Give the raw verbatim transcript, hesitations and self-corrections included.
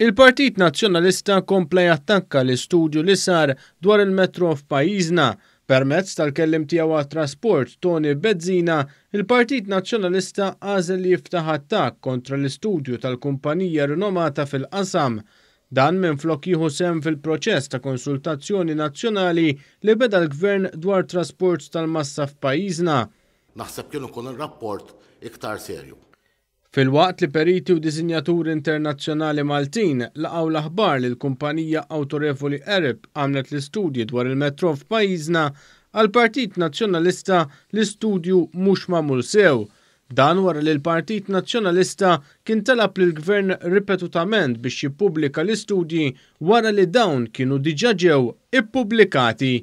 Il-Partit Nazzjonalista kompla jattakka l-istudju li sar dwar il-metro f'pajjiżna. Permezz tal-kelliem tiegħu għat-trasport Toni Bezzina, il-Partit Nazzjonalista għażel li jiftaħ attakk kontra l-istudju tal-kumpanija rinomata fil-qasam. Dan minflok jieħu sehem fil-proċess ta' konsultazzjoni nazzjonali li beda l-Gvern dwar trasport tal-massa f'pajjiżna. Naħseb kien ikun ir-rapport iktar serju. Filwaqt li periti u disinjaturi internazzjonali Maltin laqgħu l-aħbar li l-kumpanija awtorevoli Arup għamlet l-istudji dwar il-metro f'pajjiżna, għall-Partit Nazzjonalista l-istudju mhux magħmul sew. Dan wara li l-Partit Nazzjonalista kien talab lill-Gvern ripetutament biex jippubblika l-istudji wara li dawn kienu diġà ġew ippubblikati.